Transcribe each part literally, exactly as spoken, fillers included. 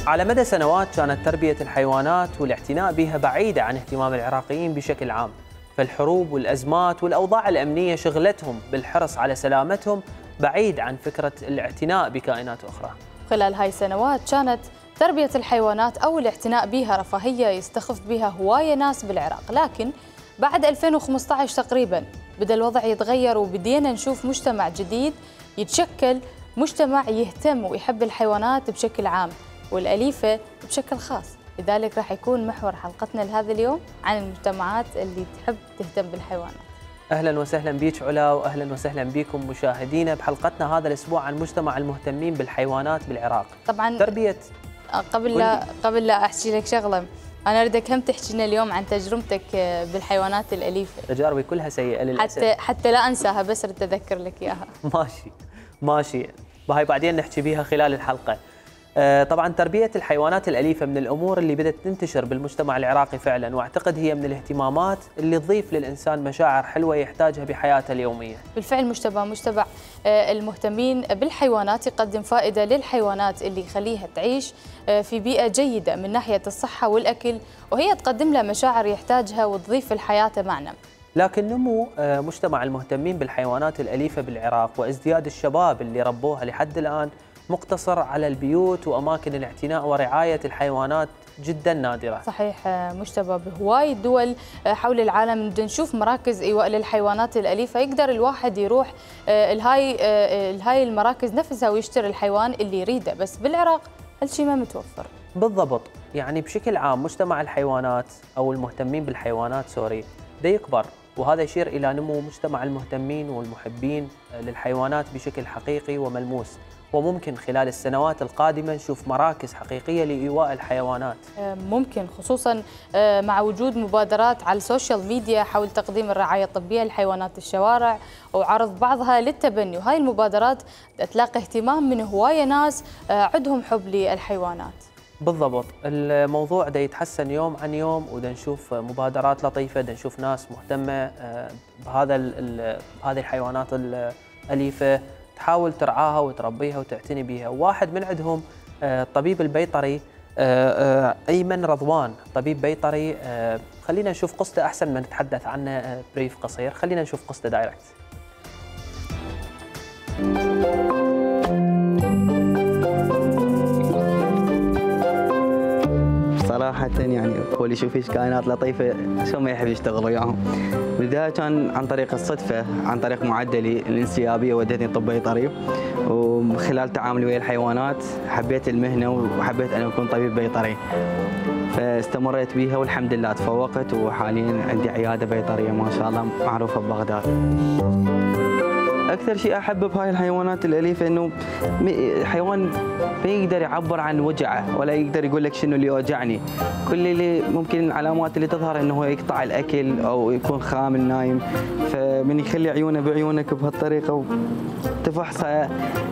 على مدى سنوات كانت تربية الحيوانات والاعتناء بها بعيدة عن اهتمام العراقيين بشكل عام، فالحروب والأزمات والأوضاع الأمنية شغلتهم بالحرص على سلامتهم بعيد عن فكرة الاعتناء بكائنات أخرى. خلال هاي السنوات كانت تربية الحيوانات أو الاعتناء بها رفاهية يستخف بها هواية ناس بالعراق، لكن بعد ألفين وخمسطعش تقريباً بدأ الوضع يتغير وبدينا نشوف مجتمع جديد يتشكل، مجتمع يهتم ويحب الحيوانات بشكل عام والأليفة بشكل خاص. لذلك راح يكون محور حلقتنا لهذا اليوم عن المجتمعات اللي تحب تهتم بالحيوانات. أهلا وسهلا بيك علا، وأهلا وسهلا بكم مشاهدينا بحلقتنا هذا الأسبوع عن مجتمع المهتمين بالحيوانات بالعراق. طبعا تربية قبل لا قبل لا أحكي لك شغلة، أنا أريدك هم تحكي لنا اليوم عن تجربتك بالحيوانات الأليفة. تجاربي كلها سيئة للأسف، حتى حتى لا أنساها، بس أريد أذكر لك إياها. ماشي ماشي، وهي بعدين نحكي بيها خلال الحلقة. طبعا تربية الحيوانات الأليفة من الأمور اللي بدأت تنتشر بالمجتمع العراقي فعلا، واعتقد هي من الاهتمامات اللي تضيف للإنسان مشاعر حلوة يحتاجها بحياته اليومية. بالفعل مجتمع مجتمع المهتمين بالحيوانات يقدم فائدة للحيوانات اللي يخليها تعيش في بيئة جيدة من ناحية الصحة والأكل، وهي تقدم له مشاعر يحتاجها وتضيف للحياة معنى. لكن نمو مجتمع المهتمين بالحيوانات الأليفة بالعراق وازدياد الشباب اللي ربوها لحد الآن مقتصر على البيوت وأماكن الاعتناء ورعاية الحيوانات جدا نادرة. صحيح مجتبى، بهواي دول حول العالم نشوف مراكز إيواء للحيوانات الأليفة، يقدر الواحد يروح الهاي الهاي المراكز نفسها ويشتري الحيوان اللي يريده، بس بالعراق هالشيء ما متوفر. بالضبط، يعني بشكل عام مجتمع الحيوانات أو المهتمين بالحيوانات سوري ده يكبر، وهذا يشير إلى نمو مجتمع المهتمين والمحبين للحيوانات بشكل حقيقي وملموس، وممكن خلال السنوات القادمة نشوف مراكز حقيقية لإيواء الحيوانات. ممكن، خصوصا مع وجود مبادرات على السوشيال ميديا حول تقديم الرعاية الطبية لحيوانات الشوارع وعرض بعضها للتبني، وهاي المبادرات تلاقي اهتمام من هواية ناس عندهم حب للحيوانات. بالضبط، الموضوع ده يتحسن يوم عن يوم، وده نشوف مبادرات لطيفة، ده نشوف ناس مهتمة بهذا بهذه الحيوانات الأليفة تحاول ترعاها وتربيها وتعتني بها. واحد من عندهم الطبيب البيطري أيمن رضوان، طبيب بيطري. خلينا نشوف قصته أحسن ما نتحدث عنه بريف قصير، خلينا نشوف قصته دايركت. صراحة يعني هو اللي يشوف فيش كائنات لطيفة شو ما يحب يشتغل وياهم. بالبداية كان عن طريق الصدفة، عن طريق معدلي الانسيابية ودتني طب بيطري، وخلال تعاملي ويا الحيوانات حبيت المهنة وحبيت أن أكون طبيب بيطري، فاستمريت بيها والحمد لله تفوقت، وحاليا عندي عيادة بيطرية ما شاء الله معروفة ببغداد. أكثر شيء أحب بهاي الحيوانات الأليفة إنه حيوان ما يقدر يعبر عن وجعه ولا يقدر يقول لك شنو اللي يوجعني، كل اللي ممكن العلامات اللي تظهر إنه هو يقطع الأكل أو يكون خامل نايم، فمن يخلي عيونه بعيونك بهالطريقة وتفحصه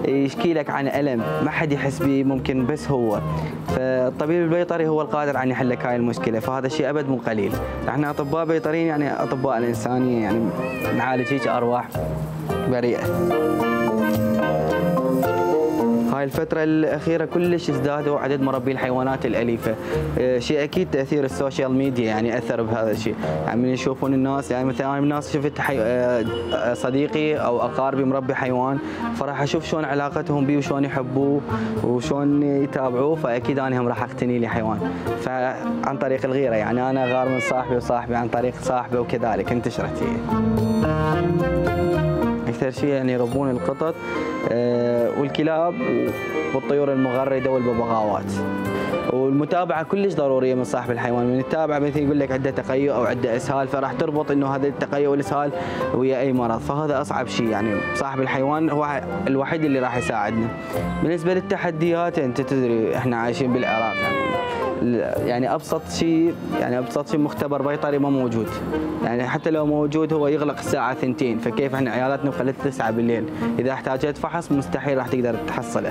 يشكي لك عن ألم ما حد يحس به ممكن بس هو، فالطبيب البيطري هو القادر عن يحل لك هاي المشكلة، فهذا الشيء أبد مو قليل. احنا أطباء بيطريين يعني أطباء الإنسانية، يعني نعالج هيك أرواح بريئة. هاي الفترة الأخيرة كلش ازدادوا عدد مربي الحيوانات الأليفة، شيء أكيد تأثير السوشيال ميديا يعني أثر بهذا الشيء، يعني من يشوفون الناس، يعني مثلا أنا من الناس شفت حي... صديقي أو أقاربي مربي حيوان، فراح أشوف شلون علاقتهم بيه وشلون يحبوه وشلون يتابعوه، فأكيد أنا هم راح أقتني لي حيوان، فعن طريق الغيرة يعني أنا غار من صاحبي وصاحبي عن طريق صاحبي وكذلك انتشرت هي. أكثر شيء يعني يربون القطط والكلاب والطيور المغردة والببغاوات، والمتابعة كلش ضرورية من صاحب الحيوان، من يتابع مثل يقول لك عنده تقيؤ أو عنده إسهال، فراح تربط إنه هذا التقيؤ والإسهال ويا أي مرض، فهذا أصعب شيء، يعني صاحب الحيوان هو الوحيد اللي راح يساعدنا. بالنسبة للتحديات أنت تدري إحنا عايشين بالعراق، يعني يعني ابسط شيء يعني ابسط شيء مختبر بيطري ما موجود، يعني حتى لو موجود هو يغلق الساعه ثنتين، فكيف احنا عيالاتنا خلت تسعة بالليل، اذا احتاجت فحص مستحيل راح تقدر تحصله.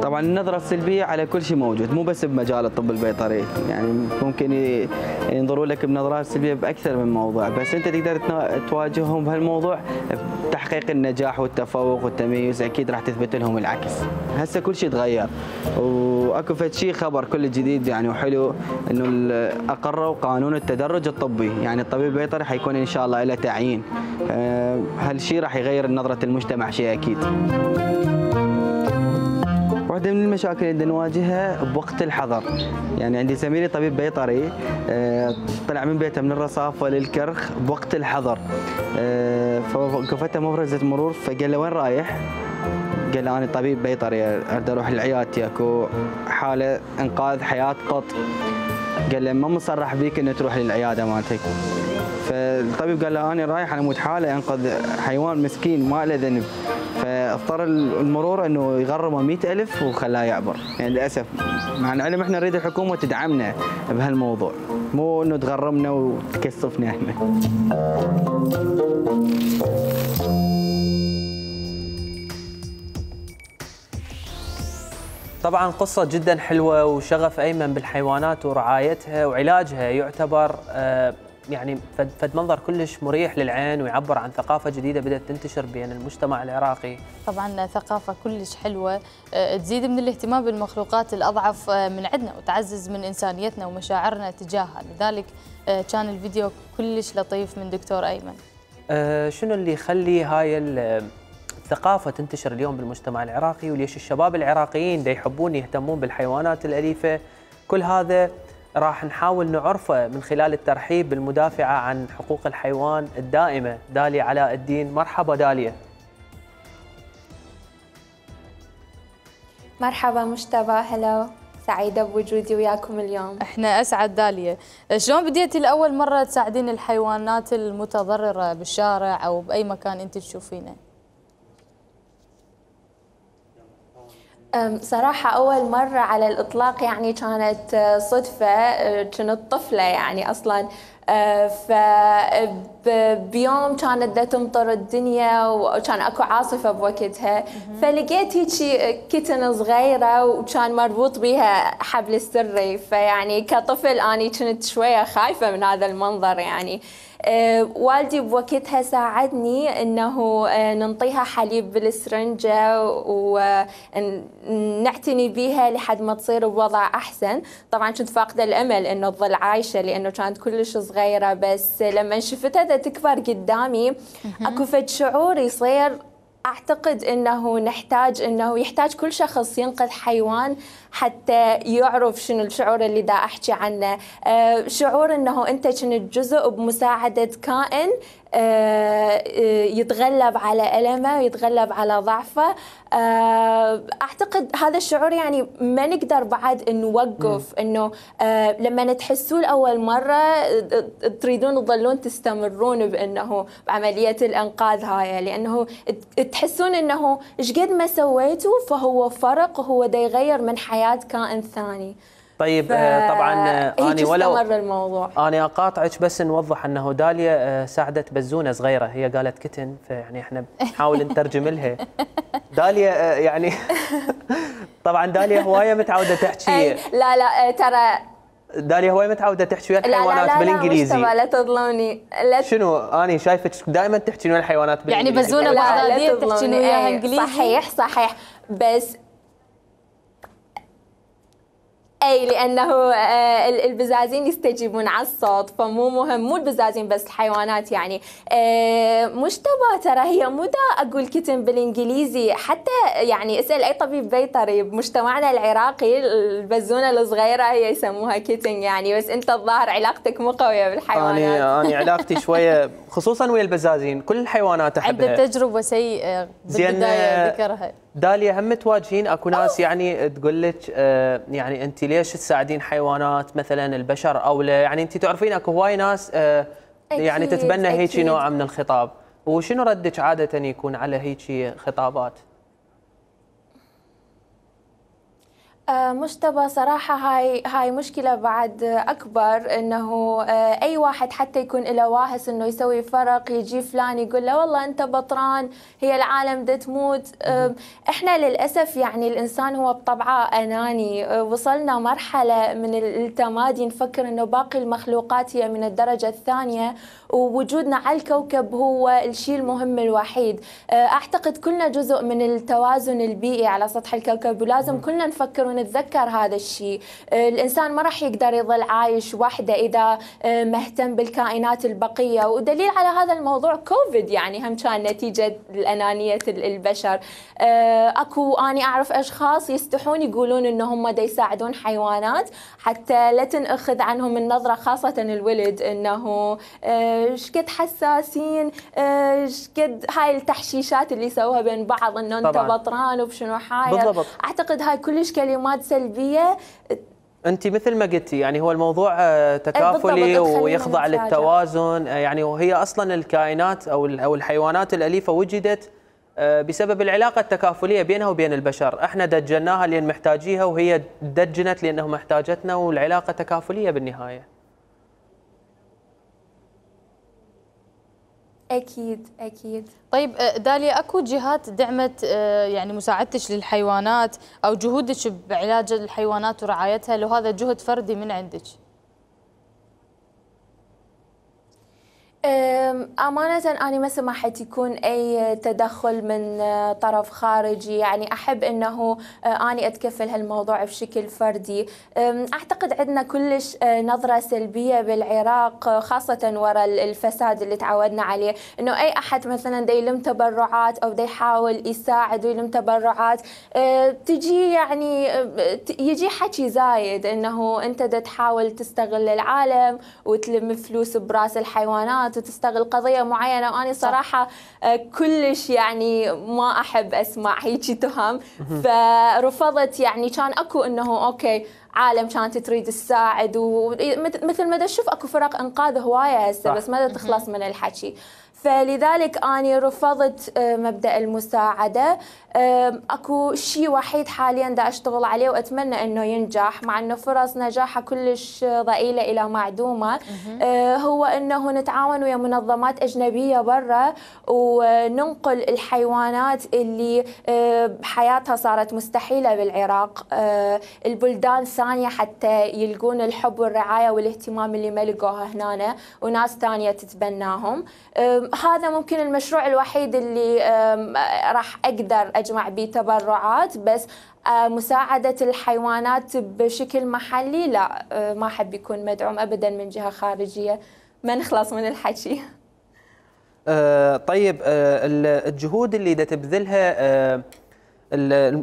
طبعا النظرة السلبية على كل شيء موجود، مو بس بمجال الطب البيطري، يعني ممكن ينظروا لك بنظرات سلبية بأكثر من موضوع، بس أنت تقدر تواجههم بهالموضوع تحقيق النجاح والتفوق والتميز اكيد راح تثبت لهم العكس. هسه كل شيء تغير واكو فد شيء خبر كل جديد يعني وحلو انه اقروا قانون التدرج الطبي، يعني الطبيب البيطري حيكون ان شاء الله له تعيين. هالشيء راح يغير نظره المجتمع شيء اكيد. واحدة من المشاكل اللي نواجهها بوقت الحظر، يعني عندي زميلي طبيب بيطري طلع من بيته من الرصافة للكرخ بوقت الحظر، فوقفته مفرزة مرور فقال له وين رايح؟ قال له أنا طبيب بيطري أريد أروح لعيادتي أكو حالة إنقاذ حياة قط. قال له ما مصرح بيك إنه تروح للعيادة مالتك. فالطبيب قال له أنا رايح أنا مود حالة أنقذ حيوان مسكين ما له ذنب، فاضطر المرور انه يغرمه مئة ألف وخلاه يعبر. يعني للاسف مع العلم احنا نريد الحكومه تدعمنا بهالموضوع، مو انه تغرمنا وتكثفنا احنا. طبعا قصة جدا حلوة وشغف أيمن بالحيوانات ورعايتها وعلاجها يعتبر آه يعني فد منظر كلش مريح للعين ويعبر عن ثقافة جديدة بدأت تنتشر بين المجتمع العراقي. طبعا ثقافة كلش حلوة تزيد من الاهتمام بالمخلوقات الأضعف من عندنا وتعزز من إنسانيتنا ومشاعرنا تجاهها، لذلك كان الفيديو كلش لطيف من دكتور أيمن. أه شنو اللي يخلي هاي الثقافة تنتشر اليوم بالمجتمع العراقي وليش الشباب العراقيين دا يحبون يهتمون بالحيوانات الأليفة؟ كل هذا راح نحاول نعرفه من خلال الترحيب بالمدافعة عن حقوق الحيوان الدائمة داليا علاء الدين. مرحبا داليا. مرحبا مجتبى، هلا، سعيدة بوجودي وياكم اليوم. احنا اسعد. داليا، شلون بديتي لأول مرة تساعدين الحيوانات المتضررة بالشارع أو بأي مكان أنت تشوفينه؟ صراحة أول مرة على الإطلاق يعني كانت صدفة، كنت طفلة يعني أصلاً، فبيوم كانت دا تمطر الدنيا وكان أكو عاصفة بوقتها، فلقيت هيك كتن صغيرة وكان مربوط بيها حبل السري، فيعني كطفل أنا كنت شوية خايفة من هذا المنظر يعني. أه والدي بوقتها ساعدني انه أه ننطيها حليب بالسرنجة ونعتني بيها لحد ما تصير بوضع احسن. طبعا كنت فاقدة الامل انه تظل عايشة لانه كانت كلش صغيرة، بس لما شفتها تكبر قدامي اكو فد شعور يصير، أعتقد أنه نحتاج أنه يحتاج كل شخص ينقذ حيوان حتى يعرف شنو الشعور اللي دا أحكي عنه. أه شعور أنه أنت كنت جزء بمساعدة كائن أه يتغلب على ألمه ويتغلب على ضعفه. أه أعتقد هذا الشعور يعني ما نقدر بعد نوقف، أنه أه لما تحسوه لأول مرة تريدون تظلون تستمرون بأنه بعملية الإنقاذ هاي، لأنه تحسون أنه إيش قد ما سويتوا فهو فرق، هو دا يغير من حياة كائن ثاني. طيب ف... طبعا أنا ولو الموضوع. أنا أقاطعك بس نوضح أنه داليا ساعدت بزونة صغيرة، هي قالت كتن فيعني احنا نحاول نترجم لها. داليا يعني طبعا داليا هواية متعودة تحكي. لا لا ترى داليا هواي متعودة تحكي ويا الحيوانات لا لا بالانجليزي. لا لا تظلموني. لا شنو أنا شايفك دائما تحكي ويا الحيوانات بالانجليزي. يعني بزونة بغدادية تحكي وياها انجليزي. صحيح صحيح، بس اي لانه البزازين يستجيبون على الصوت، فمو مهم مو البزازين بس الحيوانات يعني. مجتبى ترى هي مو دا اقول كتن بالانجليزي، حتى يعني اسال اي طبيب بيطري بمجتمعنا العراقي البزونه الصغيره هي يسموها كتن يعني، بس انت الظاهر علاقتك مو قويه بالحيوانات. انا انا علاقتي شويه خصوصا ويا البزازين، كل الحيوانات احبها. عنده تجربه سيئه بالبدايه ذكرها. داليا هم تواجهين اكو ناس يعني تقول لك آه يعني انت ليش تساعدين حيوانات مثلا البشر اولى، يعني انت تعرفين اكو هواي ناس آه يعني تتبنى هيك نوع من الخطاب، وشنو ردك عاده يكون على هيك خطابات؟ مجتبى صراحة هاي هاي مشكلة بعد أكبر، إنه أي واحد حتى يكون له واهس إنه يسوي فرق، يجي فلان يقول له والله أنت بطران، هي العالم دا تموت. إحنا للأسف يعني الإنسان هو بطبعه أناني، وصلنا مرحلة من التمادي نفكر إنه باقي المخلوقات هي من الدرجة الثانية، ووجودنا على الكوكب هو الشيء المهم الوحيد. أعتقد كلنا جزء من التوازن البيئي على سطح الكوكب، ولازم كلنا نفكر ونتذكر هذا الشيء. الإنسان ما راح يقدر يظل عايش وحده إذا مهتم بالكائنات البقية، ودليل على هذا الموضوع كوفيد يعني هم كان نتيجة الأنانية البشر. أكو أنا أعرف أشخاص يستحون يقولون إنهم دا يساعدون حيوانات حتى لا تنأخذ عنهم النظرة، خاصة الولد، إنه شقد حساسين، شقد هاي التحشيشات اللي يسووها بين بعض، إنه أنت بطران وبشنو حاير. بالضبط. أعتقد هاي كلش كلمات سلبية. أنت مثل ما قلتي يعني هو الموضوع تكافلي ويخضع للتوازن، يعني وهي أصلا الكائنات أو أو الحيوانات الأليفة وجدت بسبب العلاقة التكافلية بينها وبين البشر. احنا دجناها لأن محتاجيها، وهي دجنت لأنه محتاجتنا، والعلاقة تكافلية بالنهاية. أكيد أكيد. طيب داليا، أكو جهات دعمت يعني مساعدتك للحيوانات أو جهودك بعلاج الحيوانات ورعايتها، لو هذا جهد فردي من عندك؟ أمانة أنا ما سمحت يكون أي تدخل من طرف خارجي، يعني أحب أنه أنا أتكفل هالموضوع بشكل فردي. أعتقد عندنا كلش نظرة سلبية بالعراق، خاصة وراء الفساد اللي تعودنا عليه، أنه أي أحد مثلا دا يلم تبرعات أو دا يحاول يساعد ويلم تبرعات، تجي يعني يجي حكي زايد أنه أنت دا تحاول تستغل العالم وتلم فلوس براس الحيوانات وتستغل قضية معينة. وأنا صراحة كلش يعني ما أحب أسمع هيجي تهم، فرفضت. يعني كان أكو إنه أوكي عالم كانت تريد تساعد، ومثل ما تشوف أكو فرق إنقاذ هواية هسه، بس ما تخلص من الحكي. فلذلك أنا رفضت مبدأ المساعدة. أكو شيء وحيد حاليا دا أشتغل عليه وأتمنى أنه ينجح، مع أنه فرص نجاحه كلش ضئيلة إلى معدومة، هو أنه نتعاون ويا منظمات أجنبية برا وننقل الحيوانات اللي حياتها صارت مستحيلة بالعراق البلدان الثانية، حتى يلقون الحب والرعاية والاهتمام اللي ما لقوها هنا، وناس ثانية تتبناهم. هذا ممكن المشروع الوحيد اللي راح أقدر أجمع به تبرعات، بس مساعدة الحيوانات بشكل محلي لا، ما أحب يكون مدعوم أبدا من جهة خارجية. ما نخلص من الحكي. أه طيب، أه الجهود اللي دا تبذلها أه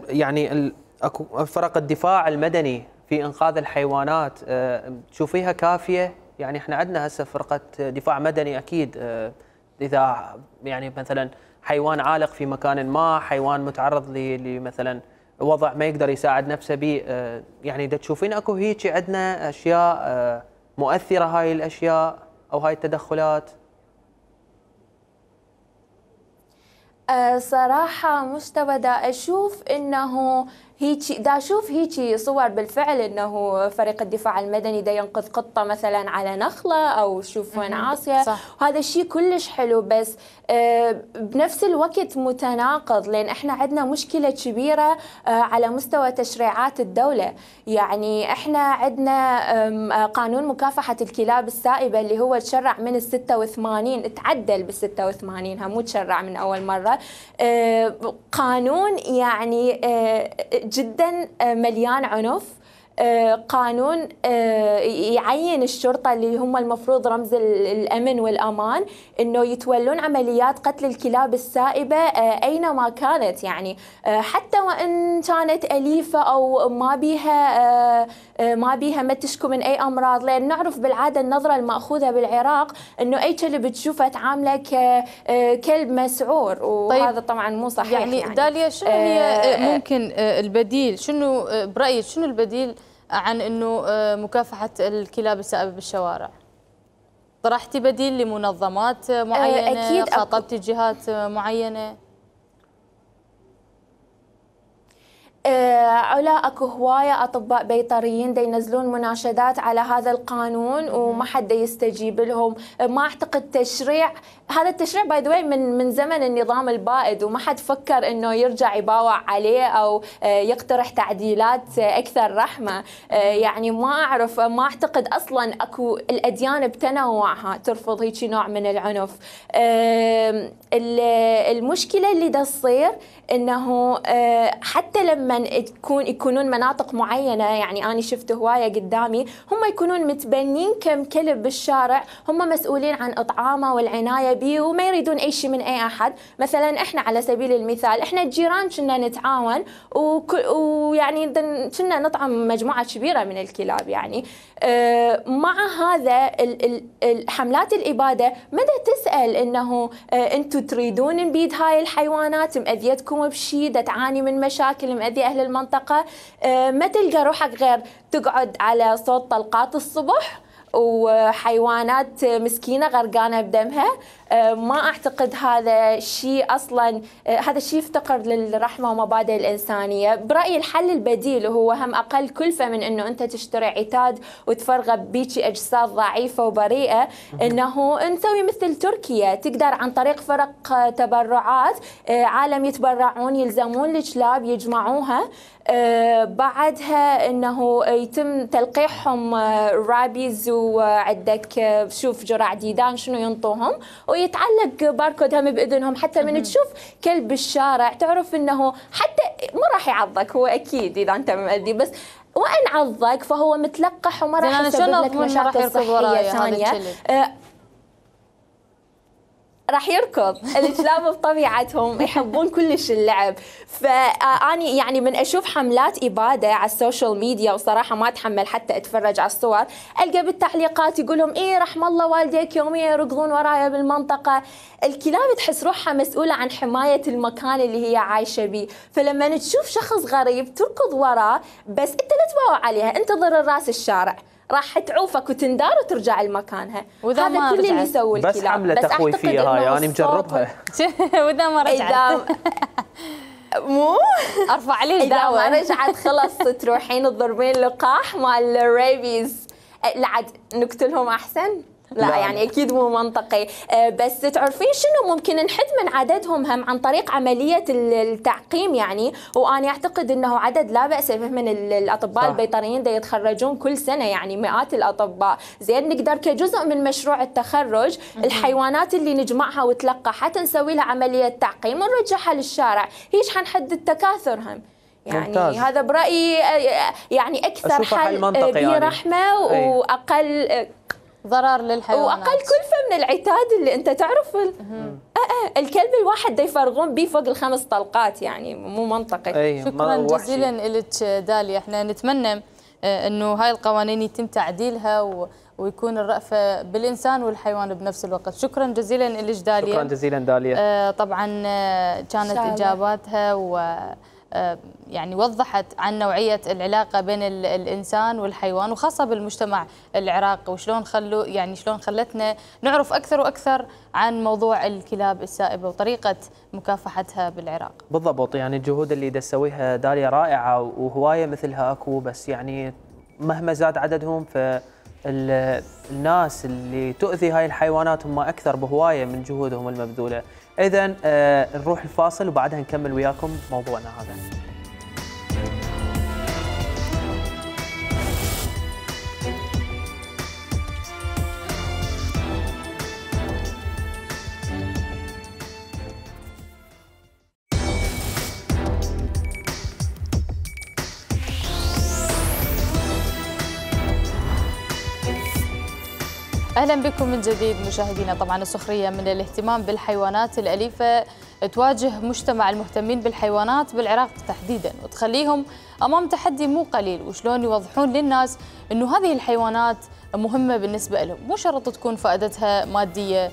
يعني اكو فرق الدفاع المدني في انقاذ الحيوانات، أه تشوفيها كافية؟ يعني احنا عندنا هسه فرقة دفاع مدني اكيد، أه اذا يعني مثلا حيوان عالق في مكان ما، حيوان متعرض لمثلا وضع ما يقدر يساعد نفسه به، أه يعني دا تشوفين اكو هيك عندنا اشياء أه مؤثرة هاي الاشياء او هاي التدخلات؟ أه صراحة مجتبى دا أشوف إنه هيجي دا أشوف هيجي صور بالفعل، إنه فريق الدفاع المدني دا ينقذ قطة مثلا على نخلة أو شوف وين عاصية، وهذا الشيء كلش حلو، بس أه بنفس الوقت متناقض، لأن إحنا عندنا مشكلة كبيرة أه على مستوى تشريعات الدولة. يعني إحنا عندنا قانون مكافحة الكلاب السائبة اللي هو تشرع من الستة وثمانين، تعدل بالستة وثمانين، مو تشرع من أول مرة. أه قانون يعني أه جدا مليان عنف، قانون يعين الشرطة اللي هم المفروض رمز الأمن والأمان إنه يتولون عمليات قتل الكلاب السائبة أينما كانت، يعني حتى وإن كانت أليفة أو ما بيها ما بيها ما تشكو من أي أمراض، لأن نعرف بالعادة النظرة المأخوذة بالعراق إنه أي كلب تشوفه تعامله ككلب مسعور، وهذا طبعا مو صحيح. يعني, يعني داليا شنو هي ممكن البديل؟ شنو برأيك شنو البديل عن انه مكافحه الكلاب السائبه بالشوارع؟ طرحتي بديل لمنظمات معينه؟ أكيد. خاطبتي جهات معينه؟ علا اكو هوايه اطباء بيطريين دا ينزلون مناشدات على هذا القانون وما حد يستجيب لهم. ما اعتقد تشريع هذا التشريع باي ذا من من زمن النظام البائد وما حد فكر انه يرجع يباوع عليه او يقترح تعديلات اكثر رحمه. يعني ما اعرف، ما اعتقد اصلا اكو الاديان بتنوعها ترفض هيك نوع من العنف. المشكله اللي دا تصير انه حتى لما تكون يكونون مناطق معينه، يعني انا شفت هوايه قدامي هم يكونون متبنين كم كلب بالشارع، هم مسؤولين عن اطعامه والعنايه به وما يريدون اي شيء من اي احد. مثلا احنا على سبيل المثال احنا الجيران كنا نتعاون ويعني كنا نطعم مجموعه كبيره من الكلاب. يعني مع هذا حملات الاباده مدى تسال انه انتم تريدون نبيد هاي الحيوانات، مأذيتكم بشيء، تعاني من مشاكل، مأذي اهل المنطقه، ما تلقى روحك غير تقعد على صوت طلقات الصبح وحيوانات مسكينه غرقانه بدمها. ما اعتقد هذا شيء اصلا، هذا الشيء يفتقر للرحمه ومبادئ الانسانيه. برايي الحل البديل هو هم اقل كلفه من انه انت تشتري عتاد وتفرغ بيجي اجساد ضعيفه وبريئه، انه نسوي مثل تركيا، تقدر عن طريق فرق تبرعات عالم يتبرعون يلزمون الكلاب يجمعوها، بعدها انه يتم تلقيحهم رابيز وعندك شوف جرع ديدان شنو ينطوهم، ويتعلق باركود هم باذنهم، حتى من تشوف كلب بالشارع تعرف انه حتى ما راح يعضك هو اكيد اذا انت مؤذي، بس وان عضك فهو متلقح وما راح يسبب لك مشاكل صحيه ثانيه. راح يركض. الكلاب بطبيعتهم يحبون كلش اللعب. فاني يعني من اشوف حملات اباده على السوشيال ميديا وصراحه ما اتحمل حتى اتفرج على الصور، القى بالتعليقات يقول لهم ايه رحم الله والديك يوميا يركضون ورايا بالمنطقه. الكلاب تحس روحها مسؤوله عن حمايه المكان اللي هي عايشه به، فلما تشوف شخص غريب تركض وراه، بس انت لا تباوع عليها، انتظر الراس الشارع راح تعوفك وتندار وترجع لمكانها. هذا كل اللي يسوي الكلاب. بس حمله تخويفيه هاي انا يعني مجربها. واذا ما رجعت مو ارفع عليه الدعوه، اذا ما رجعت خلص تروحين تضربين لقاح مال الريبيز، لا عاد نقتلهم احسن. لا, لا يعني اكيد مو منطقي. بس تعرفين شنو ممكن نحد من عددهم هم عن طريق عمليه التعقيم. يعني وانا اعتقد انه عدد لا باس به من الاطباء صح. البيطريين دا يتخرجون كل سنه، يعني مئات الاطباء. زين نقدر كجزء من مشروع التخرج الحيوانات اللي نجمعها وتلقى حتى نسوي لها عمليه تعقيم ونرجعها للشارع، هيش حنحد التكاثر هم. يعني ممتاز. هذا برايي يعني اكثر حل برحمه يعني. واقل ضرر للحيوانات واقل كلفه من العتاد اللي انت تعرف. أه أه الكلب الواحد دا يفرغون به فوق الخمس طلقات، يعني مو منطقي. شكرا جزيلا لك داليا. احنا نتمنى انه هاي القوانين يتم تعديلها ويكون الرأفة بالإنسان والحيوان بنفس الوقت. شكرا جزيلا لك داليا. شكرا جزيلا داليا. آه طبعا كانت إجاباتها و يعني وضحت عن نوعية العلاقة بين الإنسان والحيوان وخاصة بالمجتمع العراقي، وشلون خلوا يعني شلون خلتنا نعرف أكثر وأكثر عن موضوع الكلاب السائبة وطريقة مكافحتها بالعراق. بالضبط، يعني الجهود اللي تسويها داليا رائعة وهواية مثلها أكو، بس يعني مهما زاد عددهم فالناس اللي تؤذي هاي الحيوانات هم أكثر بهواية من جهودهم المبذولة. إذن آه نروح الفاصل وبعدها نكمل وياكم موضوعنا هذا. أهلا بكم من جديد مشاهدينا. طبعا السخرية من الاهتمام بالحيوانات الأليفة تواجه مجتمع المهتمين بالحيوانات بالعراق تحديدا، وتخليهم أمام تحدي مو قليل، وشلون يوضحون للناس أنه هذه الحيوانات مهمة بالنسبة لهم، مو شرط تكون فائدتها مادية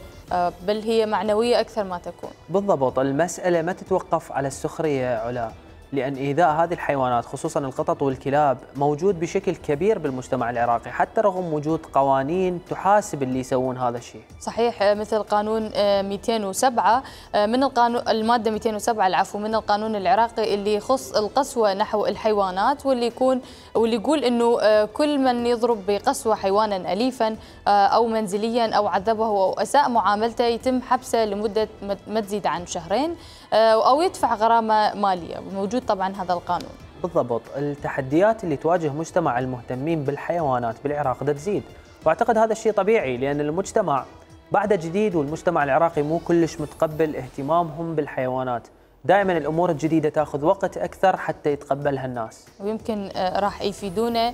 بل هي معنوية أكثر ما تكون. بالضبط، المسألة ما تتوقف على السخرية علا، لأن إيذاء هذه الحيوانات خصوصا القطط والكلاب موجود بشكل كبير بالمجتمع العراقي، حتى رغم وجود قوانين تحاسب اللي يسوون هذا الشيء. صحيح، مثل قانون مئتين وسبعة من القانون، المادة مئتين وسبعة العفو من القانون العراقي اللي يخص القسوة نحو الحيوانات، واللي يكون واللي يقول انه كل من يضرب بقسوة حيوانا أليفا أو منزليا أو عذبه أو أساء معاملته يتم حبسه لمدة ما تزيد عن شهرين أو يدفع غرامة مالية. موجود طبعا هذا القانون. بالضبط. التحديات اللي تواجه مجتمع المهتمين بالحيوانات بالعراق ده تزيد، واعتقد هذا الشيء طبيعي لأن المجتمع بعده جديد، والمجتمع العراقي مو كلش متقبل اهتمامهم بالحيوانات. دائما الامور الجديده تاخذ وقت اكثر حتى يتقبلها الناس، ويمكن راح يفيدونا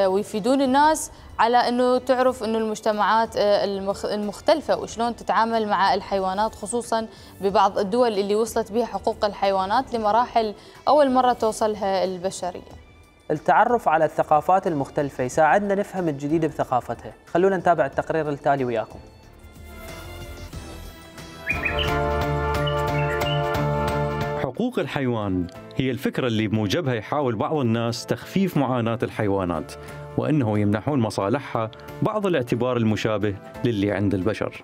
ويفيدون الناس على انه تعرف انه المجتمعات المختلفه وشلون تتعامل مع الحيوانات، خصوصا ببعض الدول اللي وصلت بها حقوق الحيوانات لمراحل اول مره توصلها البشريه. التعرف على الثقافات المختلفه يساعدنا نفهم الجديد بثقافتها. خلونا نتابع التقرير التالي وياكم. حقوق الحيوان هي الفكرة اللي بموجبها يحاول بعض الناس تخفيف معاناة الحيوانات، وأنه يمنحون مصالحها بعض الاعتبار المشابه للي عند البشر.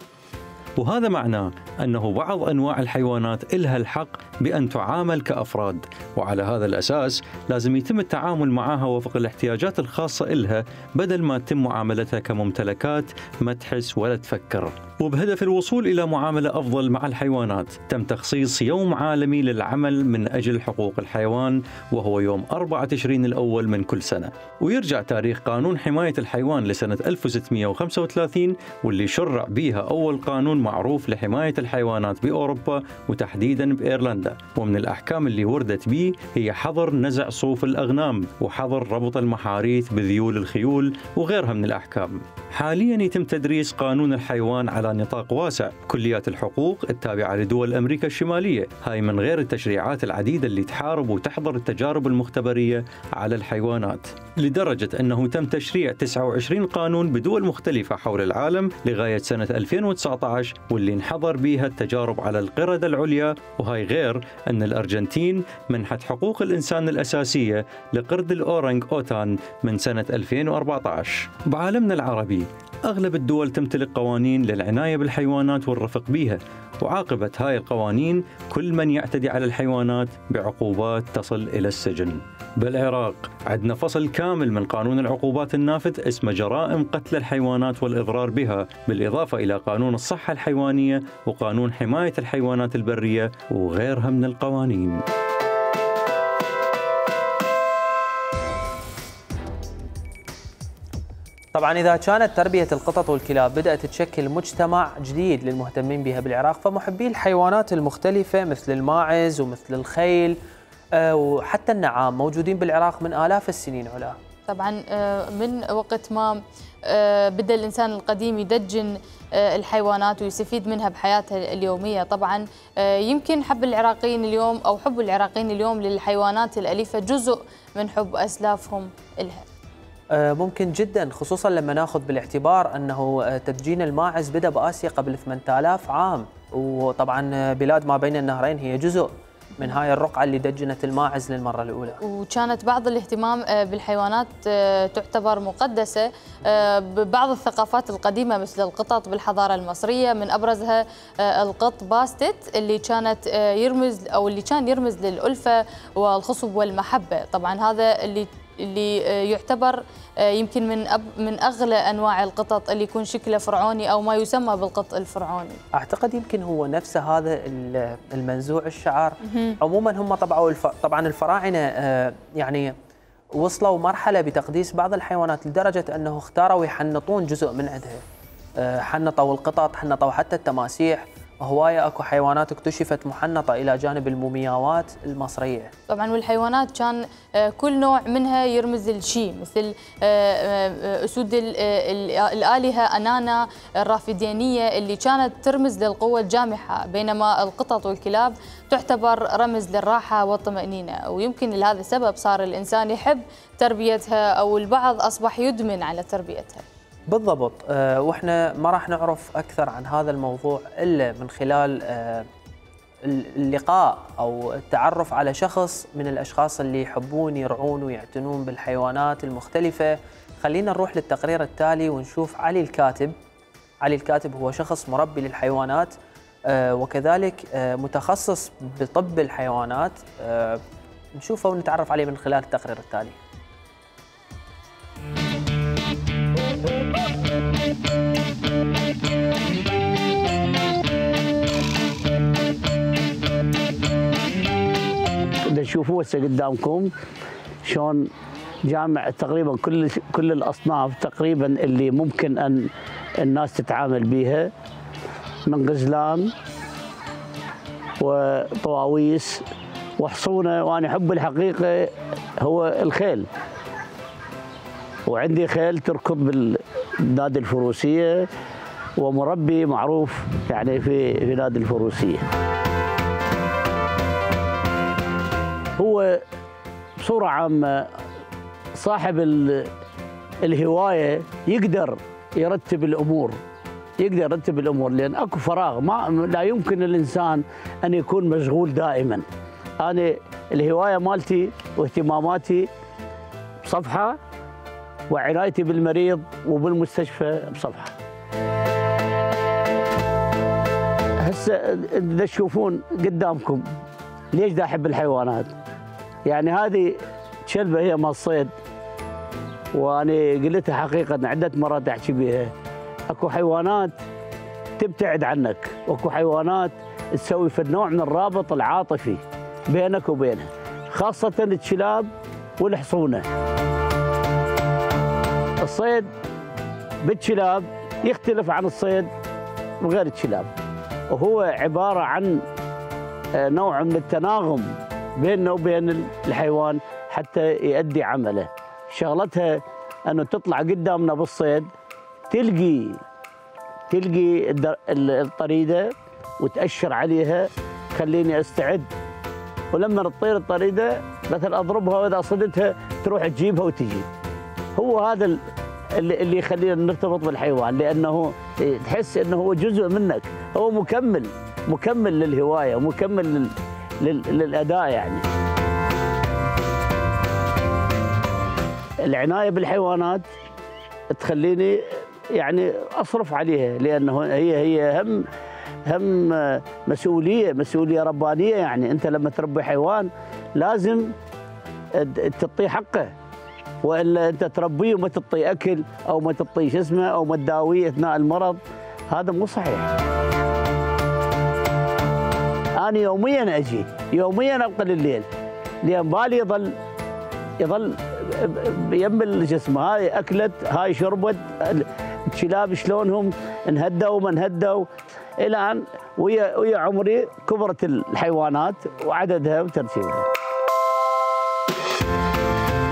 وهذا معناه أنه بعض أنواع الحيوانات إلها الحق بأن تعامل كأفراد، وعلى هذا الأساس لازم يتم التعامل معها وفق الاحتياجات الخاصة إلها بدل ما تتم معاملتها كممتلكات ما تحس ولا تفكر. وبهدف الوصول إلى معاملة أفضل مع الحيوانات تم تخصيص يوم عالمي للعمل من أجل حقوق الحيوان، وهو يوم أربعة تشرين الأول من كل سنة، ويرجع تاريخ قانون حماية الحيوان لسنة ألف وستمئة وخمسة وثلاثين، واللي شرع بها أول قانون معروف لحماية الحيوانات بأوروبا وتحديدا بإيرلندا. ومن الأحكام اللي وردت به هي حظر نزع صوف الأغنام، وحظر ربط المحاريث بذيول الخيول، وغيرها من الأحكام. حاليا يتم تدريس قانون الحيوان على نطاق واسع كليات الحقوق التابعة لدول أمريكا الشمالية، هاي من غير التشريعات العديدة اللي تحارب وتحظر التجارب المختبرية على الحيوانات، لدرجة أنه تم تشريع تسعة وعشرين قانون بدول مختلفة حول العالم لغاية سنة ألفين وتسعة عشر، واللي انحظر بها التجارب على القردة العليا. وهاي غير أن الأرجنتين منحت حقوق الإنسان الأساسية لقرد الأورنج أوتان من سنة ألفين وأربعة عشر. بعالمنا العربي أغلب الدول تمتلك قوانين للعناية بالحيوانات والرفق بها، وعاقبت هاي القوانين كل من يعتدي على الحيوانات بعقوبات تصل إلى السجن. بالعراق عندنا فصل كامل من قانون العقوبات النافذ اسمه جرائم قتل الحيوانات والإضرار بها، بالإضافة إلى قانون الصحة الحيوانية وقانون حماية الحيوانات البرية وغيرها من القوانين. طبعا إذا كانت تربية القطط والكلاب بدأت تشكل مجتمع جديد للمهتمين بها بالعراق، فمحبي الحيوانات المختلفة مثل الماعز ومثل الخيل وحتى النعام موجودين بالعراق من آلاف السنين علا. طبعا من وقت ما بدأ الإنسان القديم يدجن الحيوانات ويستفيد منها بحياته اليومية. طبعا يمكن حب العراقيين اليوم أو حب العراقيين اليوم للحيوانات الأليفة جزء من حب أسلافهم لها. ممكن جدا، خصوصا لما ناخذ بالاعتبار انه تدجين الماعز بدا باسيا قبل ثمانية آلاف عام، وطبعا بلاد ما بين النهرين هي جزء من هاي الرقعه اللي دجنت الماعز للمره الاولى. وكانت بعض الاهتمام بالحيوانات تعتبر مقدسه ببعض الثقافات القديمه مثل القطط بالحضاره المصريه، من ابرزها القط باستت اللي كانت يرمز او اللي كان يرمز للالفه والخصب والمحبه. طبعا هذا اللي اللي يعتبر يمكن من أب من اغلى انواع القطط اللي يكون شكله فرعوني او ما يسمى بالقط الفرعوني. اعتقد يمكن هو نفس هذا المنزوع الشعر. عموما هم طبعا طبعا الفراعنه يعني وصلوا مرحله بتقديس بعض الحيوانات لدرجه انه اختاروا يحنطون جزء من عندها. حنطوا القطط، حنطوا حتى التماسيح، هواية اكو حيوانات اكتشفت محنطة إلى جانب المومياوات المصرية. طبعا والحيوانات كان كل نوع منها يرمز لشيء، مثل أسود الآلهة أنانا الرافدينية اللي كانت ترمز للقوة الجامحة، بينما القطط والكلاب تعتبر رمز للراحة والطمأنينة. ويمكن لهذا السبب صار الإنسان يحب تربيتها أو البعض أصبح يدمن على تربيتها. بالضبط. أه واحنا ما راح نعرف اكثر عن هذا الموضوع الا من خلال أه اللقاء أو التعرف على شخص من الأشخاص اللي يحبون يرعون ويعتنون بالحيوانات المختلفة. خلينا نروح للتقرير التالي ونشوف علي الكاتب. علي الكاتب هو شخص مربي للحيوانات وكذلك متخصص بطب الحيوانات. نشوفه ونتعرف عليه من خلال التقرير التالي. تشوفوه هسه قدامكم شلون جامع تقريبا كل كل الاصناف تقريبا اللي ممكن ان الناس تتعامل بيها، من غزلان وطواويس وحصونه. وانا احب الحقيقه هو الخيل، وعندي خيل تركض بالنادي الفروسيه ومربي معروف يعني في في نادي الفروسيه. هو بصوره عامه صاحب الهوايه يقدر يرتب الامور، يقدر يرتب الامور لان اكو فراغ، ما لا يمكن الانسان ان يكون مشغول دائما. انا الهوايه مالتي واهتماماتي بصفحه، وعنايتي بالمريض وبالمستشفى بصفحه. هسه اذا تشوفون قدامكم ليش دا احب الحيوانات؟ يعني هذه كلبه هي مال صيد، وانا قلتها حقيقه عده مرات احكي بها. اكو حيوانات تبتعد عنك، واكو حيوانات تسوي في نوع من الرابط العاطفي بينك وبينها، خاصه الكلاب والحصونه. الصيد بالكلاب يختلف عن الصيد بغير الكلاب، وهو عباره عن نوع من التناغم بيننا وبين الحيوان حتى يؤدي عمله. شغلتها انه تطلع قدامنا بالصيد، تلقي تلقي الطريده وتأشر عليها خليني استعد، ولما تطير الطريده مثلا اضربها واذا صدتها تروح تجيبها وتجي. هو هذا اللي يخلينا نرتبط بالحيوان، لانه تحس انه هو جزء منك، هو مكمل مكمل للهوايه ومكمل لل... لل... للاداء. يعني العنايه بالحيوانات تخليني يعني اصرف عليها، لانه هي هي هم هم مسؤوليه مسؤوليه ربانيه. يعني انت لما تربي حيوان لازم تعطيه حقه، والا انت تربيه وما تعطيه اكل او ما تعطيه شو اسمه او ما تداويه اثناء المرض، هذا مو صحيح. انا يوميا اجي يوميا ابقى لليل، لان بالي يظل يظل يم الجسم. هاي اكلت، هاي شربت، الكلاب شلونهم انهدوا وما انهدوا، الى ان ويا ويا عمري كبرت الحيوانات وعددها وترتيبها.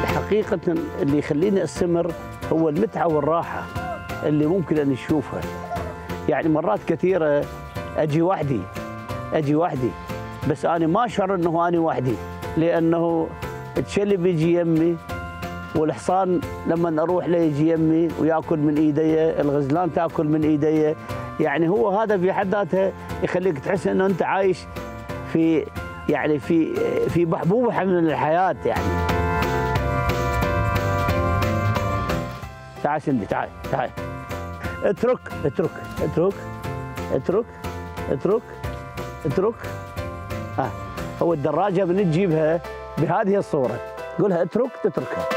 حقيقة اللي يخليني استمر هو المتعة والراحة اللي ممكن ان نشوفها. يعني مرات كثيرة اجي وحدي اجي وحدي بس انا ما اشعر انه انا وحدي، لانه الكلب يجي يمي، والحصان لما اروح له يجي يمي وياكل من ايدي، الغزلان تاكل من ايدي. يعني هو هذا في حد ذاته يخليك تحس انه انت عايش في يعني في في بحبوحه من الحياه. يعني تعال سندي، تعال تعال اترك اترك اترك اترك اترك اترك. اه هو الدراجه من تجيبها بهذه الصوره، قولها اترك تتركها.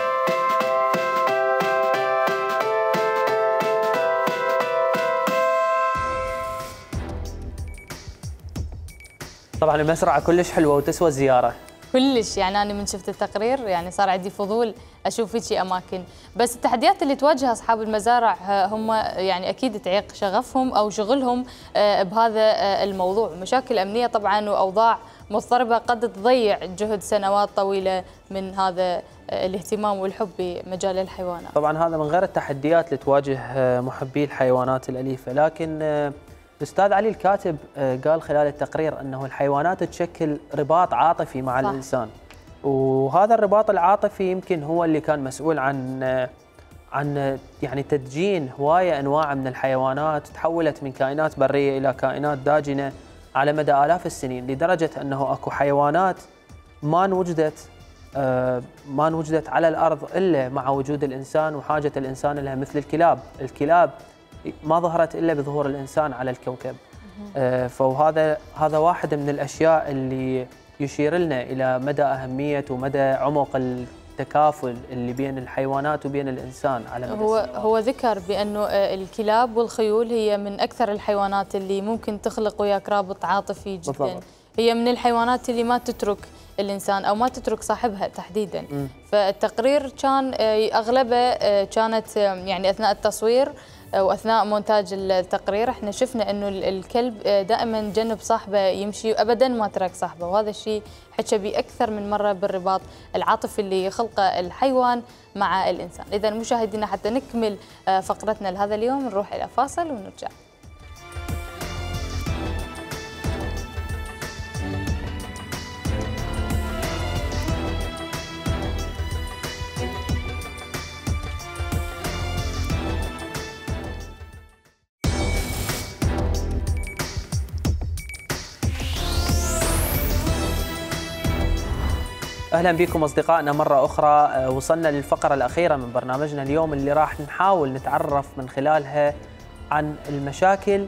طبعا المزرعه كلش حلوه وتسوى الزياره كلش. يعني انا من شفت التقرير يعني صار عندي فضول اشوف هيك اماكن. بس التحديات اللي تواجه اصحاب المزارع هم يعني اكيد تعيق شغفهم او شغلهم بهذا الموضوع، مشاكل امنيه طبعا واوضاع مضطربه قد تضيع جهد سنوات طويله من هذا الاهتمام والحب بمجال الحيوانات. طبعا هذا من غير التحديات اللي تواجه محبي الحيوانات الاليفه. لكن الأستاذ علي الكاتب قال خلال التقرير أنه الحيوانات تشكل رباط عاطفي مع صح. الإنسان، وهذا الرباط العاطفي يمكن هو اللي كان مسؤول عن عن يعني تدجين هواية أنواع من الحيوانات، تحولت من كائنات برية إلى كائنات داجنة على مدى آلاف السنين، لدرجة أنه أكو حيوانات ما وجدت ما وجدت على الأرض إلا مع وجود الإنسان وحاجة الإنسان لها، مثل الكلاب. الكلاب ما ظهرت إلا بظهور الإنسان على الكوكب. فهذا هذا واحد من الأشياء اللي يشير لنا إلى مدى أهمية ومدى عمق التكافل اللي بين الحيوانات وبين الإنسان على مدى هو السنوات. هو ذكر بأنه الكلاب والخيول هي من أكثر الحيوانات اللي ممكن تخلق وياك رابط عاطفي جدا. بالضبط. هي من الحيوانات اللي ما تترك الإنسان أو ما تترك صاحبها تحديدا. م. فالتقرير كان أغلبه كانت يعني أثناء التصوير واثناء مونتاج التقرير احنا شفنا انه الكلب دائما جنب صاحبه يمشي وابدا ما ترك صاحبه، وهذا الشيء حكى به اكثر من مره بالرباط العاطفي اللي يخلقه الحيوان مع الانسان. اذا مشاهدينا حتى نكمل فقرتنا لهذا اليوم نروح الى فاصل ونرجع. أهلا بكم أصدقائنا مرة أخرى. وصلنا للفقرة الأخيرة من برنامجنا اليوم اللي راح نحاول نتعرف من خلالها عن المشاكل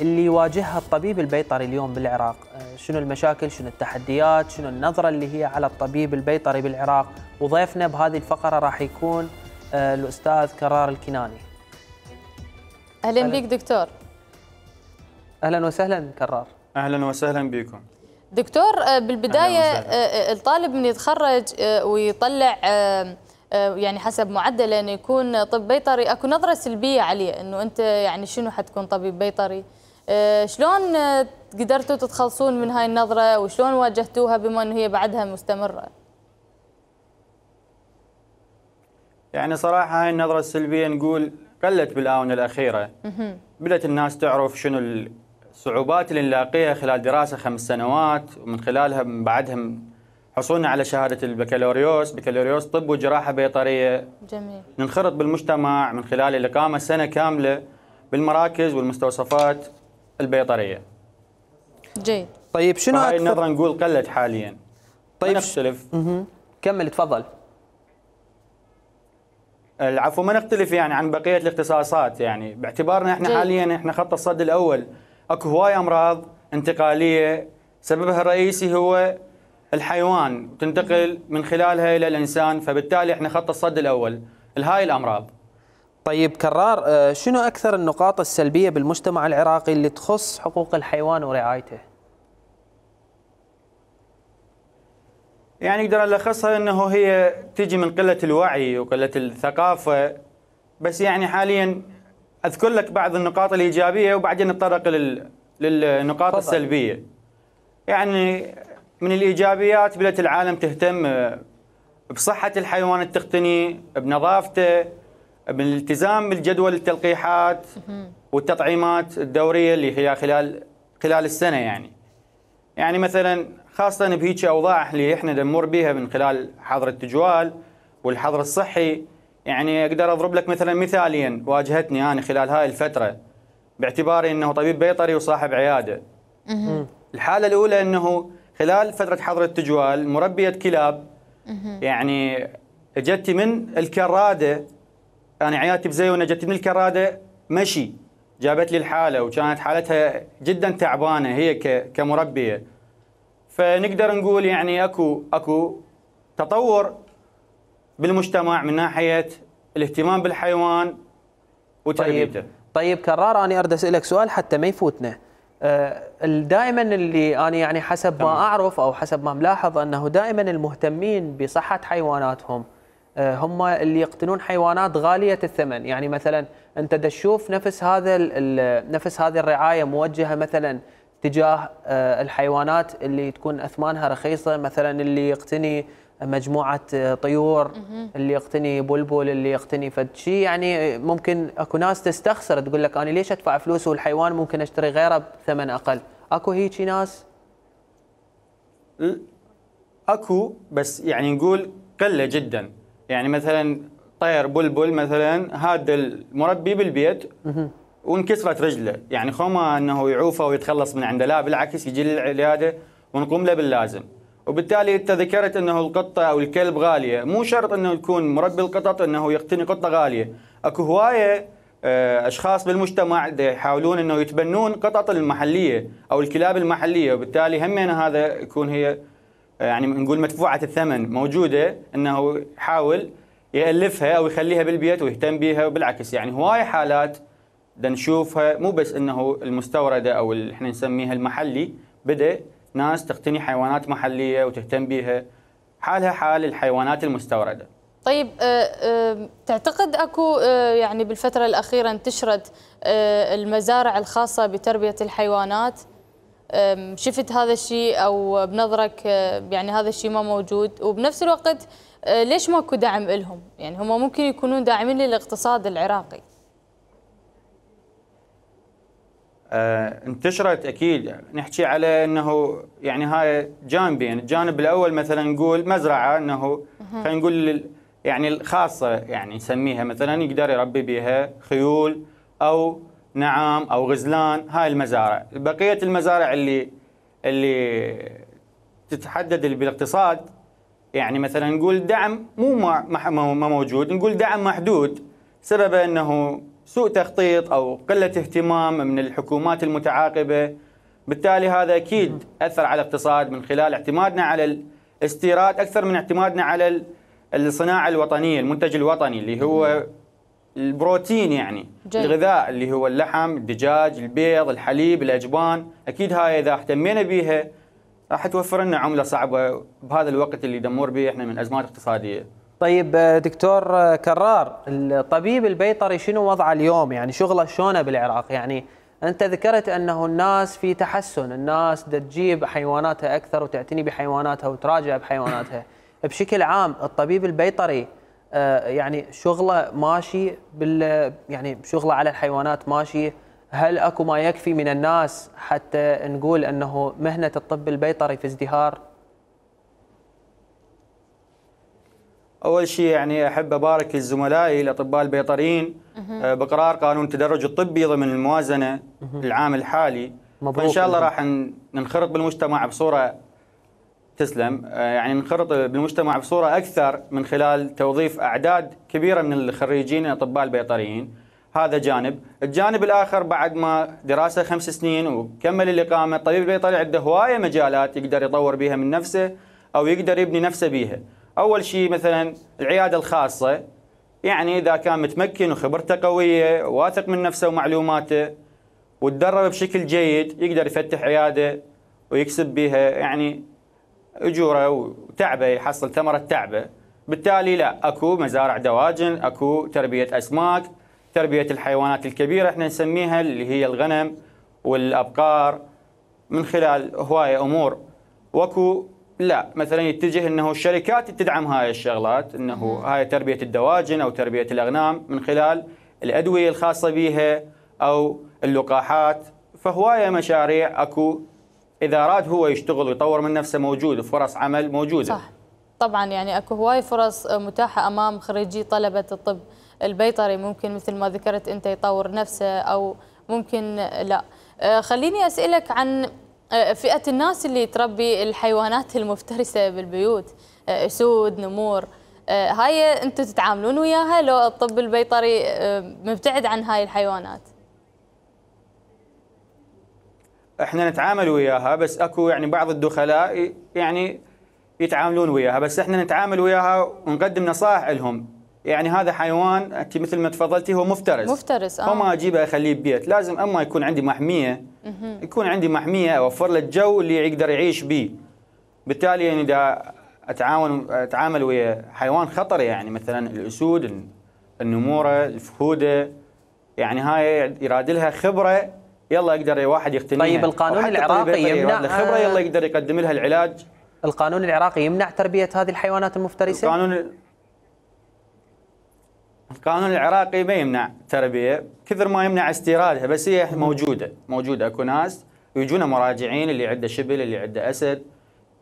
اللي يواجهها الطبيب البيطري اليوم بالعراق. شنو المشاكل، شنو التحديات، شنو النظرة اللي هي على الطبيب البيطري بالعراق. وضيفنا بهذه الفقرة راح يكون الأستاذ كرار الكناني. أهلا بك دكتور. أهلا وسهلا كرار. أهلا وسهلا بكم دكتور. بالبداية الطالب من يتخرج ويطلع يعني حسب معدله انه يكون طب بيطري، اكو نظرة سلبية عليه انه انت يعني شنو حتكون طبيب بيطري. شلون قدرتوا تتخلصون من هاي النظرة وشلون واجهتوها بما انه هي بعدها مستمرة؟ يعني صراحة هاي النظرة السلبية نقول قلت بالآونة الأخيرة. بدأت الناس تعرف شنو الصعوبات اللي نلاقيها خلال دراسة خمس سنوات، ومن خلالها من بعدها حصولنا على شهادة البكالوريوس، بكالوريوس طب وجراحة بيطرية. جميل. ننخرط بالمجتمع من خلال الإقامة سنة كاملة بالمراكز والمستوصفات البيطرية. جيد. طيب شنو هاي النظرة نقول قلت حاليا. طيب نختلف. اها كمل تفضل. العفو. ما نختلف يعني عن بقية الاختصاصات، يعني باعتبارنا احنا جيد. حاليا احنا خط الصد الأول. اكو هواي امراض انتقاليه سببها الرئيسي هو الحيوان وتنتقل من خلالها الى الانسان، فبالتالي احنا خط الصد الاول لهاي الامراض. طيب كرار، شنو اكثر النقاط السلبيه بالمجتمع العراقي اللي تخص حقوق الحيوان ورعايته؟ يعني نقدر نلخصها انه هي تجي من قله الوعي وقله الثقافه، بس يعني حاليا اذكر لك بعض النقاط الايجابيه وبعدين نتطرق لل... للنقاط فضل. السلبيه. يعني من الايجابيات بدات العالم تهتم بصحه الحيوان التقني، بنظافته، بالالتزام بالجدول التلقيحات والتطعيمات الدوريه اللي هي خلال خلال السنه. يعني يعني مثلا خاصه بهيك اوضاع اللي احنا نمر بها من خلال حظر التجوال والحظر الصحي. يعني اقدر اضرب لك مثلا مثالين واجهتني انا خلال هاي الفتره باعتباري انه طبيب بيطري وصاحب عياده. الحاله الاولى انه خلال فتره حظر التجوال مربيه كلاب يعني اجتي من الكراده، انا عيادتي بزيونه، اجتي من الكراده مشي، جابت لي الحاله وكانت حالتها جدا تعبانه هي كمربيه. فنقدر نقول يعني اكو اكو تطور بالمجتمع من ناحيه الاهتمام بالحيوان وتربيته. طيب, طيب كرار، انا اريد اسالك سؤال حتى ما يفوتنا. أه دائما اللي انا يعني حسب ما اعرف او حسب ما ملاحظ انه دائما المهتمين بصحه حيواناتهم أه هم اللي يقتنون حيوانات غاليه الثمن. يعني مثلا انت تشوف نفس هذا نفس هذه الرعايه موجهه مثلا تجاه أه الحيوانات اللي تكون اثمانها رخيصه، مثلا اللي يقتني مجموعة طيور، اللي يقتني بلبل، اللي يقتني فد شيء. يعني ممكن اكو ناس تستخسر تقول لك انا ليش ادفع فلوس والحيوان ممكن اشتري غيره بثمن اقل. اكو هيجي ناس؟ اكو، بس يعني نقول قله جدا. يعني مثلا طير بلبل مثلا هذا المربي بالبيت وانكسرت رجله، يعني خوما انه يعوفه ويتخلص من عنده، لا بالعكس يجي للعياده ونقوم له باللازم. وبالتالي انت ذكرت انه القطه او الكلب غاليه، مو شرط انه يكون مربي القطط انه يقتني قطه غاليه، اكو هوايه اشخاص بالمجتمع يحاولون انه يتبنون قطط المحليه او الكلاب المحليه، وبالتالي همين هذا يكون هي يعني نقول مدفوعه الثمن موجوده، انه يحاول يالفها او يخليها بالبيت ويهتم بها. وبالعكس يعني هوايه حالات بدنا نشوفها، مو بس انه المستورده او اللي احنا نسميها المحلي، بدا ناس تقتني حيوانات محليه وتهتم بها، حالها حال الحيوانات المستورده. طيب أه أه تعتقد اكو أه يعني بالفتره الاخيره انتشرت أه المزارع الخاصه بتربيه الحيوانات؟ أه شفت هذا الشيء او بنظرك أه يعني هذا الشيء ما موجود؟ وبنفس الوقت أه ليش ماكو دعم لهم؟ يعني هم ممكن يكونون داعمين للاقتصاد العراقي. آه انتشرت اكيد، نحكي على انه يعني هاي جانبين، الجانب الاول مثلا نقول مزرعه انه خلينا نقول يعني الخاصه يعني نسميها مثلا يقدر يربي بها خيول او نعام او غزلان، هاي المزارع. بقيه المزارع اللي اللي تتحدد بالاقتصاد يعني مثلا نقول دعم مو ما موجود، نقول دعم محدود، سببه انه سوء تخطيط او قله اهتمام من الحكومات المتعاقبه. بالتالي هذا اكيد اثر على الاقتصاد من خلال اعتمادنا على الاستيراد اكثر من اعتمادنا على الصناعه الوطنيه، المنتج الوطني اللي هو البروتين، يعني جي. الغذاء اللي هو اللحم، الدجاج، البيض، الحليب، الاجبان. اكيد هاي اذا اهتمينا بها راح توفر لنا عمله صعبه بهذا الوقت اللي دمر به احنا من ازمات اقتصاديه. طيب دكتور كرار، الطبيب البيطري شنو وضعه اليوم؟ يعني شغله شلونه بالعراق؟ يعني انت ذكرت انه الناس في تحسن، الناس تجيب حيواناتها اكثر وتعتني بحيواناتها وتراجع بحيواناتها. بشكل عام الطبيب البيطري يعني شغله ماشي بال يعني شغله على الحيوانات ماشي؟ هل اكو ما يكفي من الناس حتى نقول انه مهنه الطب البيطري في ازدهار؟ أول شيء يعني أحب أبارك لزملائي الأطباء البيطريين بقرار قانون التدرج الطبي ضمن الموازنة العام الحالي، وإن شاء الله راح ننخرط بالمجتمع بصورة تسلم يعني ننخرط بالمجتمع بصورة أكثر من خلال توظيف أعداد كبيرة من الخريجين الأطباء البيطريين. هذا جانب. الجانب الآخر بعد ما دراسة خمس سنين وكمل الإقامة، الطبيب البيطري عنده هواية مجالات يقدر يطور بها من نفسه أو يقدر يبني نفسه بها. أول شيء مثلا العيادة الخاصة، يعني إذا كان متمكن وخبرته قوية واثق من نفسه ومعلوماته وتدرب بشكل جيد، يقدر يفتح عيادة ويكسب بها يعني أجوره وتعبه، يحصل ثمرة تعبه. بالتالي لا، أكو مزارع دواجن، أكو تربية أسماك، تربية الحيوانات الكبيرة احنا نسميها اللي هي الغنم والأبقار، من خلال هواية أمور. وأكو لا مثلا يتجه انه الشركات تدعم هاي الشغلات، انه هاي تربيه الدواجن او تربيه الاغنام من خلال الادويه الخاصه بها او اللقاحات. فهوايه مشاريع اكو، اذا اراد هو يشتغل ويطور من نفسه موجود، وفرص عمل موجوده. صح طبعا، يعني اكو هواي فرص متاحه امام خريجي طلبه الطب البيطري، ممكن مثل ما ذكرت انت يطور نفسه او ممكن لا. خليني اسالك عن فئة الناس اللي تربي الحيوانات المفترسة بالبيوت، أسود، نمور، هاي أنتم تتعاملون وياها لو الطب البيطري مبتعد عن هاي الحيوانات؟ احنا نتعامل وياها، بس اكو يعني بعض الدخلاء يعني يتعاملون وياها، بس احنا نتعامل وياها ونقدم نصائح لهم. يعني هذا حيوان انت مثل ما تفضلتي هو مفترس مفترس اه ما اجيبه اخليه ببيت، لازم اما يكون عندي محميه، يكون عندي محميه اوفر له الجو اللي يقدر يعيش به. بالتالي يعني اذا اتعاون اتعامل ويا حيوان خطر، يعني مثلا الاسود، النموره، الفهوده، يعني هاي يراد لها خبره، يلا يقدر واحد يقتنيها. طيب القانون العراقي يمنع خبره، يلا يقدر يقدم لها العلاج. القانون العراقي يمنع تربيه هذه الحيوانات المفترسه؟ القانون القانون العراقي ما يمنع تربيه كثر ما يمنع استيرادها، بس هي موجوده موجوده اكو ناس ويجونا مراجعين اللي عنده شبل، اللي عنده اسد،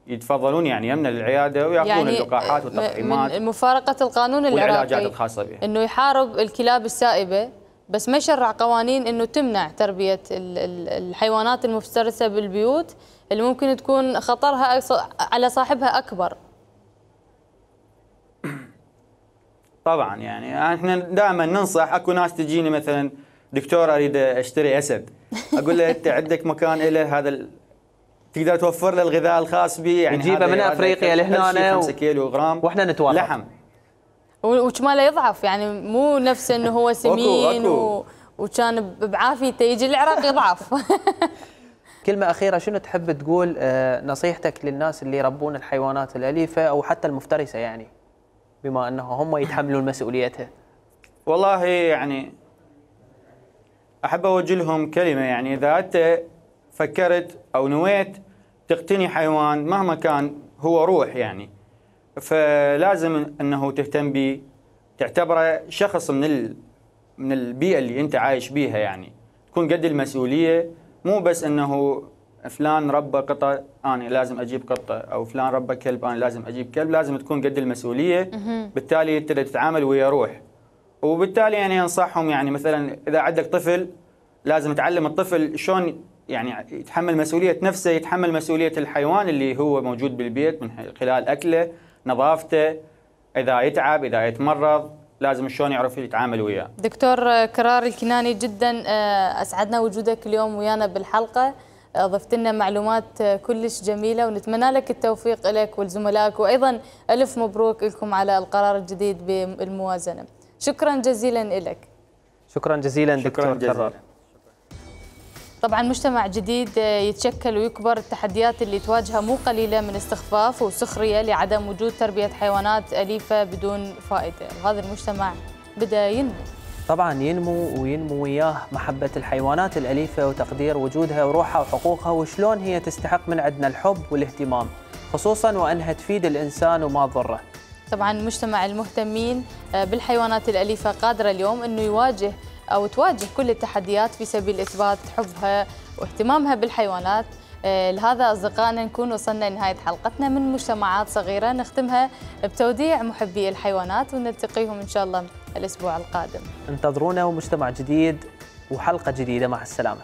يتفضلون يعني يمنا للعياده وياخذون يعني اللقاحات والتطعيمات. من مفارقه القانون العراقي والعلاجات الخاصه بها، انه يحارب الكلاب السائبه بس ما يشرع قوانين انه تمنع تربيه الحيوانات المفترسه بالبيوت اللي ممكن تكون خطرها على صاحبها اكبر. طبعا يعني احنا دائما ننصح، اكو ناس تجيني مثلا دكتور اريد اشتري اسد، اقول له انت عندك مكان له هذا ال... تقدر توفر له الغذاء الخاص به، يعني نجيبه من افريقيا لهنا خمسة كيلو غرام واحنا نتورط لحم وكماله يضعف، يعني مو نفس انه هو سمين و... وكان بعافيته يجي العراق يضعف. كلمة أخيرة، شنو تحب تقول نصيحتك للناس اللي يربون الحيوانات الأليفة أو حتى المفترسة، يعني بما أنه هم يتحملون مسؤوليتها؟ والله يعني أحب أوجه لهم كلمة، يعني إذا أنت فكرت أو نويت تقتني حيوان مهما كان هو روح، يعني فلازم أنه تهتم به، تعتبره شخص من ال... من البيئة اللي أنت عايش بيها، يعني تكون قد المسؤولية، مو بس أنه فلان ربى قطة أنا لازم أجيب قطة، أو فلان ربى كلب أنا لازم أجيب كلب، لازم تكون قد المسؤولية. بالتالي أنت تتعامل ويا روح، وبالتالي يعني أنصحهم، يعني مثلا إذا عندك طفل لازم تعلم الطفل شلون يعني يتحمل مسؤولية نفسه، يتحمل مسؤولية الحيوان اللي هو موجود بالبيت من خلال أكله، نظافته، إذا يتعب، إذا يتمرض، لازم شلون يعرف يتعامل وياه. دكتور كرار الكناني، جدا أسعدنا وجودك اليوم ويانا بالحلقة، ضفت لنا معلومات كلش جميلة، ونتمنى لك التوفيق لك ولزملائك، وأيضا ألف مبروك لكم على القرار الجديد بالموازنة. شكرا جزيلا لك. شكرا جزيلا دكتور كرار. طبعا مجتمع جديد يتشكل ويكبر، التحديات اللي تواجهها مو قليلة من استخفاف وسخرية لعدم وجود تربية حيوانات أليفة بدون فائدة، وهذا المجتمع بدأ ينمو. طبعا ينمو وينمو وياه محبة الحيوانات الأليفة وتقدير وجودها وروحها وحقوقها، وشلون هي تستحق من عندنا الحب والاهتمام، خصوصا وأنها تفيد الإنسان وما تضره. طبعا مجتمع المهتمين بالحيوانات الأليفة قادر اليوم أنه يواجه أو تواجه كل التحديات في سبيل إثبات حبها واهتمامها بالحيوانات. لهذا أصدقائنا نكون وصلنا لنهاية حلقتنا من مجتمعات صغيرة، نختمها بتوديع محبي الحيوانات، ونلتقيهم إن شاء الله الأسبوع القادم. انتظرونا ومجتمع جديد وحلقة جديدة، مع السلامة.